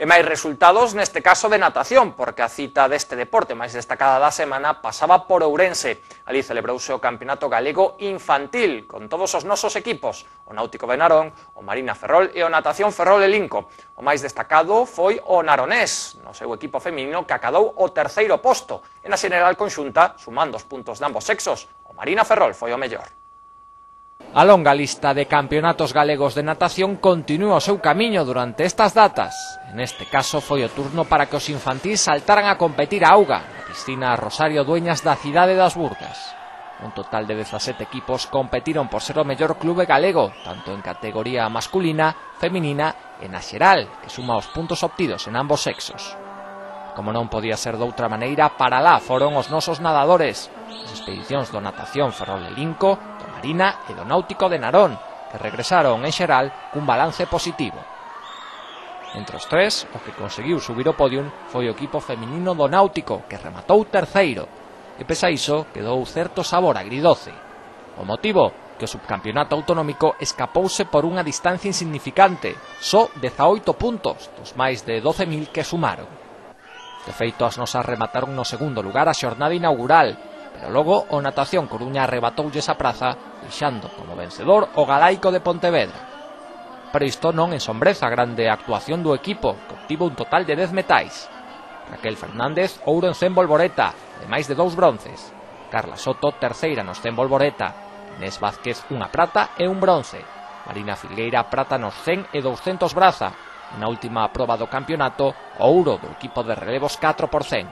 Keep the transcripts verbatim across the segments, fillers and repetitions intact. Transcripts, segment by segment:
E máis resultados neste caso de natación, porque a cita deste deporte máis destacada da semana pasaba por Ourense. Ali celebrouse o Campeonato Galego Infantil, con todos os nosos equipos, o Náutico de Narón, o Marina Ferrol e o Natación Ferrol e Linco. O máis destacado foi o naronés, no seu equipo feminino, que acadou o terceiro posto. E na xeneral conxunta, sumando os puntos de ambos sexos, o Marina Ferrol foi o mellor. A longa lista de campeonatos galegos de natación continúa o seu camiño durante estas datas. En este caso foi o turno para que os infantís saltaran a competir a auga na piscina Rosario Dueñas da cidade das Burgas. Un total de dezasete equipos competiron por ser o mellor clube galego, tanto en categoría masculina, feminina e na xeral, que suma os puntos obtidos en ambos sexos. Como non podía ser doutra maneira, para lá foron os nosos nadadores, as expedicións do Natación Ferrol e Linco, do Marina e do Náutico de Narón, que regresaron en xeral cun balance positivo. Entre os tres, o que conseguiu subir o podium foi o equipo feminino do Náutico, que rematou terceiro, e pese a iso quedou certo sabor agridoce. O motivo, que o subcampeonato autonómico escapouse por unha distancia insignificante, só dezaoito puntos dos máis de doce mil que sumaron. De feito, as nosas remataron no segundo lugar a xornada inaugural, pero logo o Natación Coruña arrebatoulle esa praza, deixando como vencedor o Galaico de Pontevedra. Pero isto non ensombreza a grande actuación do equipo, que obtivo un total de dez metais. Raquel Fernández, ouro en cen volvoreta, ademais de dous bronces. Carla Soto, terceira nos cen volvoreta. Inés Vázquez, unha prata e un bronce. Marina Filgueira, prata nos cen e douscentos braza. Na última proba do campeonato, o ouro do equipo de relevos catro por cen.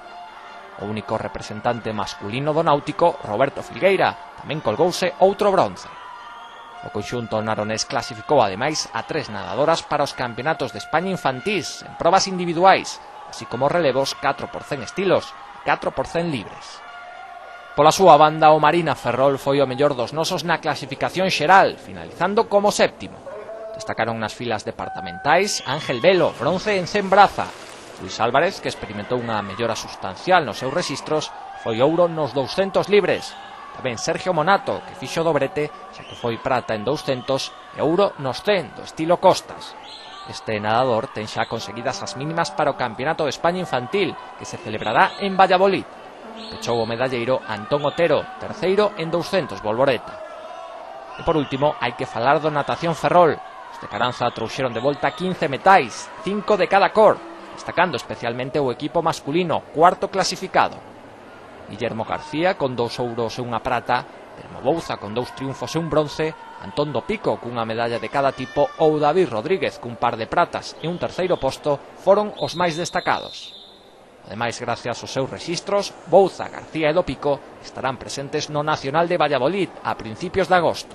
O único representante masculino do Náutico, Roberto Filgueira, tamén colgouse outro bronce. O conxunto naronés clasificou ademais a tres nadadoras para os campeonatos de España infantís en probas individuais, así como relevos catro por cen estilos e catro por cen libres. Pola súa banda, o Marina Ferrol foi o mellor dos nosos na clasificación xeral, finalizando como séptimo. Destacaron nas filas departamentais Ángel Velo, bronce en cen braza. Luis Álvarez, que experimentou unha mellora sustancial nos seus rexistros, foi ouro nos douscentos libres. Tamén Sergio Monato, que fixo dobrete, xa que foi prata en douscentos e ouro nos cen do estilo Costas. Este nadador ten xa conseguidas as mínimas para o Campeonato de España Infantil, que se celebrará en Valladolid. Pechou o medalleiro Antón Otero, terceiro en douscentos volvoreta. E por último, hai que falar do Natación Ferrol. De Caranza trouxeron de volta quince metais, cinco de cada cor, destacando especialmente o equipo masculino, cuarto clasificado. Guillermo García con dous ouros e unha prata, Telmo Bouza con dous triunfos e un bronce, Antón do Pico cunha medalla de cada tipo ou David Rodríguez cun par de pratas e un terceiro posto foron os máis destacados. Ademais, gracias aos seus rexistros, Bouza, García e do Pico estarán presentes no Nacional de Valladolid a principios de agosto.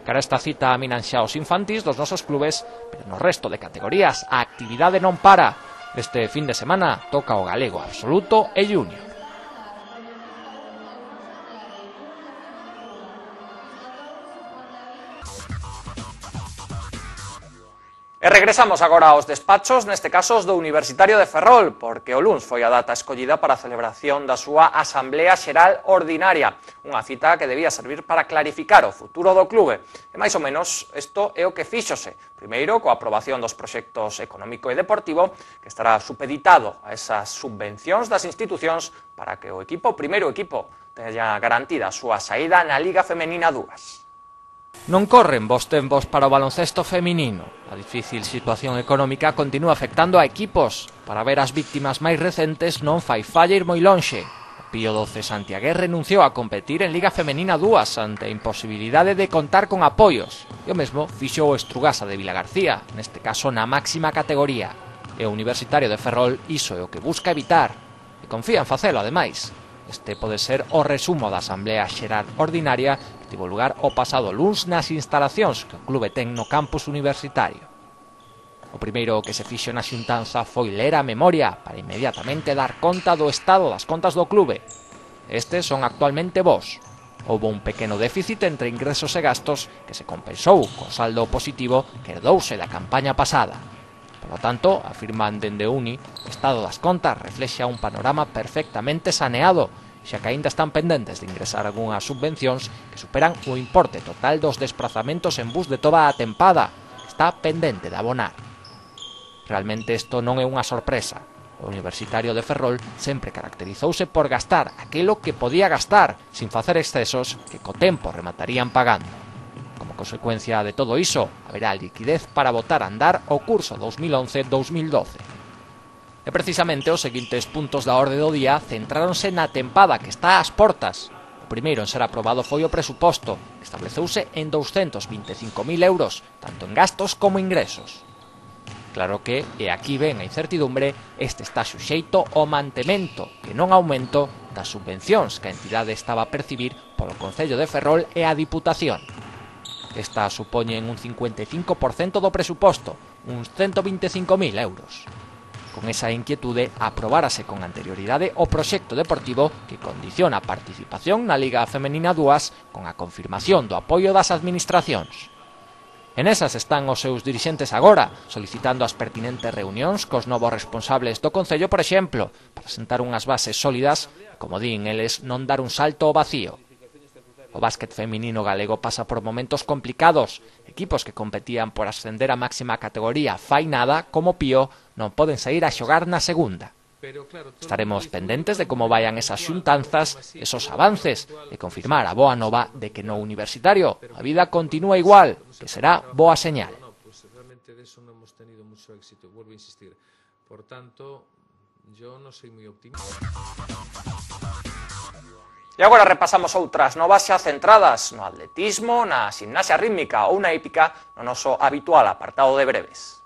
Cara esta cita minan xa os infantís dos nosos clubes, pero no resto de categorías a actividade non para. Este fin de semana toca o galego absoluto e junior. E regresamos agora aos despachos, neste caso os do Universitario de Ferrol, porque o luns foi a data escollida para a celebración da súa Asamblea Xeral Ordinaria, unha cita que debía servir para clarificar o futuro do clube. E máis ou menos isto é o que fíxose, primeiro coa aprobación dos proxectos económico e deportivo, que estará supeditado a esas subvencións das institucións para que o equipo, o primeiro equipo, teña garantida a súa saída na Liga Femenina dúas. Non corren bos tempos para o baloncesto feminino. A difícil situación económica continúa afectando a equipos. Para ver as víctimas máis recentes non fai falla ir moi lonxe. O Pío doce Santiagués renunciou a competir en Liga Femenina dúas ante a imposibilidade de contar con apoios. E o mesmo fixo o Estrugasa de Vilagarcía, neste caso na máxima categoría. E o Universitario de Ferrol iso é o que busca evitar. E confía en facelo, ademais. Este pode ser o resumo da Asamblea Xeral Ordinaria que tivo lugar o pasado luns nas instalacións que o clube ten no campus universitario. O primeiro que se fixo na xuntanza foi ler a memoria para inmediatamente dar conta do estado das contas do clube. Estes son actualmente bons. Houbo un pequeno déficit entre ingresos e gastos que se compensou co saldo positivo que herdouse da campaña pasada. Por lo tanto, afirman dende Uni, o estado das contas reflexa un panorama perfectamente saneado, xa que aínda están pendentes de ingresar algunhas subvencións que superan o importe total dos desprazamentos en bus de toda a tempada, que está pendente de abonar. Realmente isto non é unha sorpresa. O Universitario de Ferrol sempre caracterizouse por gastar aquilo que podía gastar, sin facer excesos que co tempo rematarían pagando. Como consecuencia de todo iso, haberá liquidez para botar a andar o curso dos mil once dos mil doce. E precisamente os seguintes puntos da orde do día centráronse na tempada que está ás portas. O primeiro en ser aprobado foi o presuposto, que estableceuse en douscentos vinte e cinco mil euros, tanto en gastos como ingresos. Claro que, e aquí ven a incertidumbre, este está suxeito ao mantemento, que non aumento, das subvencións que a entidade estaba a percibir polo Concello de Ferrol e a Diputación. Esta supoñen un cincuenta e cinco por cento do presuposto, uns ciento vinte e cinco mil euros. Con esa inquietude, aprobárase con anterioridade o proxecto deportivo que condiciona a participación na Liga Femenina dúas con a confirmación do apoio das administracións. En esas están os seus dirixentes agora, solicitando as pertinentes reunións cos novos responsables do Concello, por exemplo, para sentar unhas bases sólidas, como din eles, non dar un salto ao vacío. O básquet feminino galego pasa por momentos complicados. Equipos que competían por ascender a máxima categoría fai nada, como Pío, non poden sair a xogar na segunda. Estaremos pendentes de como vayan esas xuntanzas, esos avances, e confirmar a boa nova de que no Universitario a vida continúa igual, que será boa señal. E agora repasamos outras novas xa centradas no atletismo, na gimnasia rítmica ou na hípica, no noso habitual apartado de breves.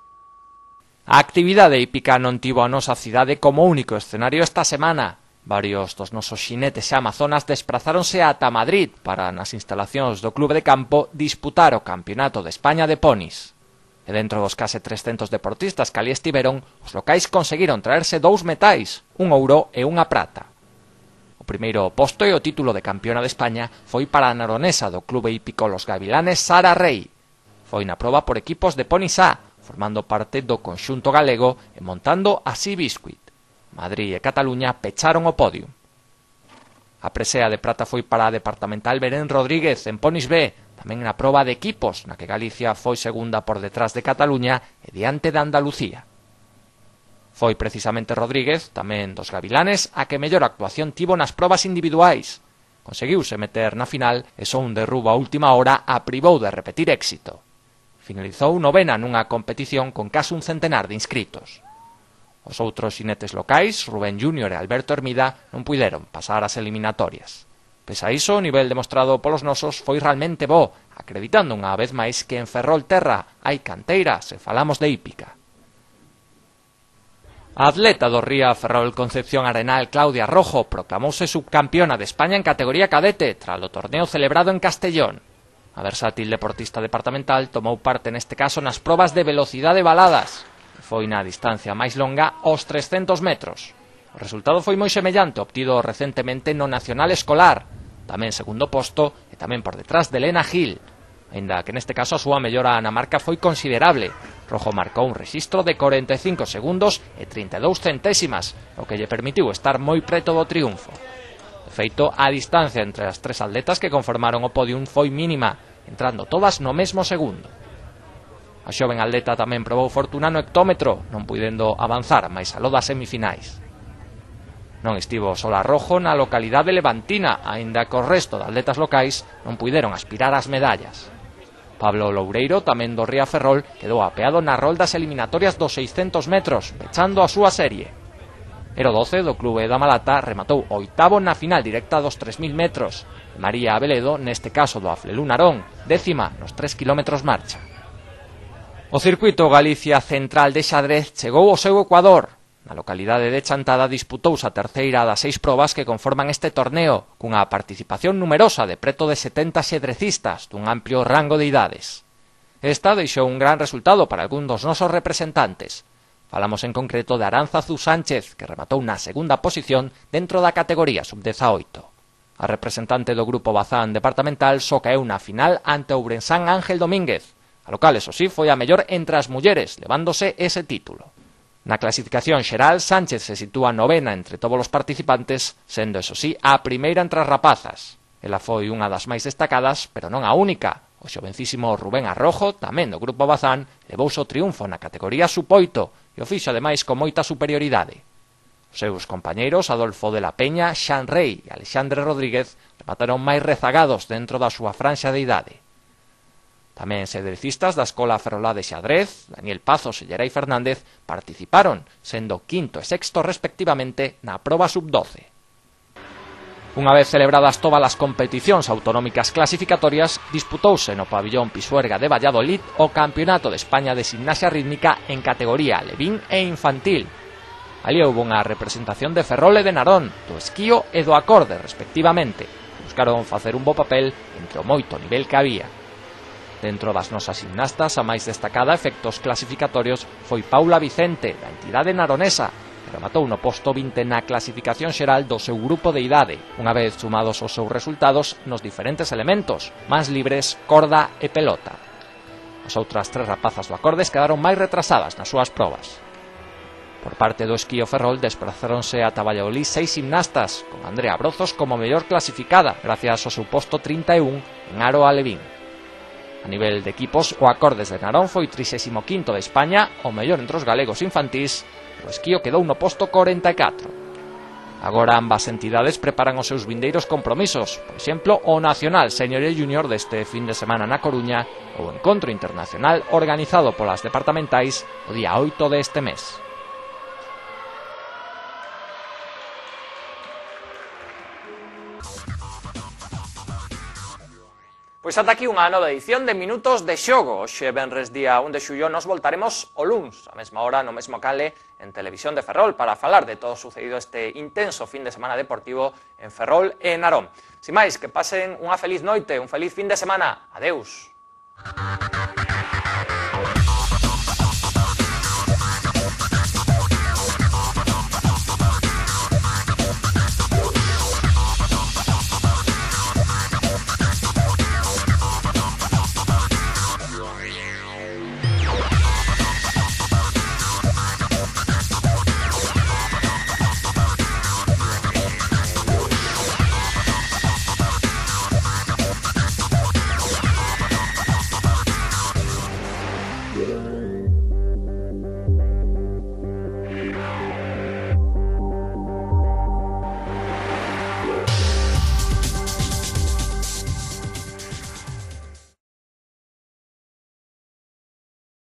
A actividade hípica non tivo a nosa cidade como único escenario esta semana. Varios dos nosos xinetes e amazonas desprazáronse ata Madrid para, nas instalacións do clube de campo, disputar o Campeonato de España de Ponis. E dentro dos case trescentos deportistas que ali estiveron, os locais conseguiron traerse dous metais, un ouro e unha prata. O primeiro posto e o título de campeona de España foi para a naronesa do clube hípico Los Gavilanes, Sara Rey. Foi na proba por equipos de Ponis A, formando parte do conxunto galego e montando a Sea Biscuit. Madrid e Cataluña pecharon o podio. A presea de prata foi para a departamental Belén Rodríguez en Ponis B, tamén na proba de equipos, na que Galicia foi segunda por detrás de Cataluña e diante de Andalucía. Foi precisamente Rodríguez, tamén dos Gavilanes, a que mellor actuación tivo nas probas individuais. Conseguiuse meter na final e só un derrubo a última hora a privou de repetir éxito. Finalizou novena nunha competición con case un centenar de inscritos. Os outros xinetes locais, Rubén Júnior e Alberto Hermida, non puideron pasar as eliminatorias. Pese a iso, o nivel demostrado polos nosos foi realmente bo, acreditando unha vez máis que en Ferrol Terra hai canteira se falamos de hípica. A atleta do Ría Ferrol Concepción Arenal, Claudia Rojo, proclamouse subcampeona de España en categoría cadete tras o torneo celebrado en Castellón. A versátil deportista departamental tomou parte neste caso nas probas de velocidade baladas. Foi na distancia máis longa aos trescentos metros. O resultado foi moi semellante obtido recentemente no Nacional Escolar, tamén segundo posto e tamén por detrás de Elena Gil. Aínda que neste caso a súa mellora na marca foi considerable. Rojo marcou un rexistro de corenta e cinco segundos e trinta e dous centésimas, o que lle permitiu estar moi preto do triunfo. De feito, a distancia entre as tres atletas que conformaron o podium foi mínima, entrando todas no mesmo segundo. A xoven atleta tamén probou fortuna no hectómetro, non puidendo avanzar máis aló das semifinais. Non estivo sola Rojo na localidade levantina, aínda que o resto de atletas locais non puideron aspirar ás medallas. Pablo Loureiro, tamén do Ría Ferrol, quedou apeado na roldas eliminatorias dos seiscentos metros, pechando a súa serie. Ero doce do clube da Malata rematou oitavo na final directa dos tres mil metros. María Abeledo, neste caso do Aflelú Narón, décima nos tres kilómetros marcha. O circuito Galicia Central de xadrez chegou ao seu ecuador. Na localidade de Chantada disputouse a terceira das seis probas que conforman este torneo, cunha participación numerosa de preto de setenta xadrecistas dun amplio rango de idades. Esta deixou un gran resultado para algún dos nosos representantes. Falamos en concreto de Aránzazu Sánchez, que rematou na segunda posición dentro da categoría sub dezaoito. A representante do grupo Bazán departamental só caeu na final ante o Ourensán Ángel Domínguez. A local, eso sí, foi a mellor entre as mulleres, levándose ese título. Na clasificación xeral, Sánchez se sitúa novena entre todos os participantes, sendo, eso sí, a primeira entre as rapazas. Ela foi unha das máis destacadas, pero non a única. O xovencísimo Rubén Arrojo, tamén do Grupo Bazán, levouse o triunfo na categoría sub oito e o fixo ademais con moita superioridade. Os seus compañeiros Adolfo de la Peña, Xan Rey e Alexandre Rodríguez remataron máis rezagados dentro da súa franxa de idade. Tamén xadrecistas da Escola Ferrolá de Xadrez, Daniel Pazos e Gerai Fernández, participaron, sendo quinto e sexto respectivamente na proba sub doce. Unha vez celebradas todas as competicións autonómicas clasificatorias, disputouse no pabillón Pisuerga de Valladolid o Campeonato de España de Gimnasia Rítmica en categoría alevín e infantil. Ali houve unha representación de Ferrol e de Narón, do esquío e do acorde, respectivamente. Buscaron facer un bo papel entre o moito nivel que había. Dentro das nosas gimnastas, a máis destacada efectos clasificatorios foi Paula Vicente, da entidade naronesa, que rematou no posto vinte na clasificación xeral do seu grupo de idade, unha vez sumados os seus resultados nos diferentes elementos, mans libres, corda e pelota. As outras tres rapazas do acordes quedaron máis retrasadas nas súas probas. Por parte do esquío Ferrol desprazáronse ata Valladolid seis gimnastas, con Andrea Brozos como mellor clasificada, gracias ao seu posto trinta e un en aro alevín. A nivel de equipos, o acordes de Narón foi trixésimo quinto de España, o mellor entre os galegos infantís, o esquío quedou no posto corenta e catro. Agora ambas entidades preparan os seus vindeiros compromisos, por exemplo, o Nacional Senior e Junior deste fin de semana na Coruña ou o Encontro Internacional organizado polas departamentais o día oito deste mes. Pois ata aquí unha nova edición de Minutos de Xogo. Hoxe, venres día un de xullo, nos voltaremos o luns, a mesma hora, no mesmo cale, en Televisión de Ferrol, para falar de todo o sucedido este intenso fin de semana deportivo en Ferrol e Narón. Sin máis, que pasen unha feliz noite, un feliz fin de semana. Adeus.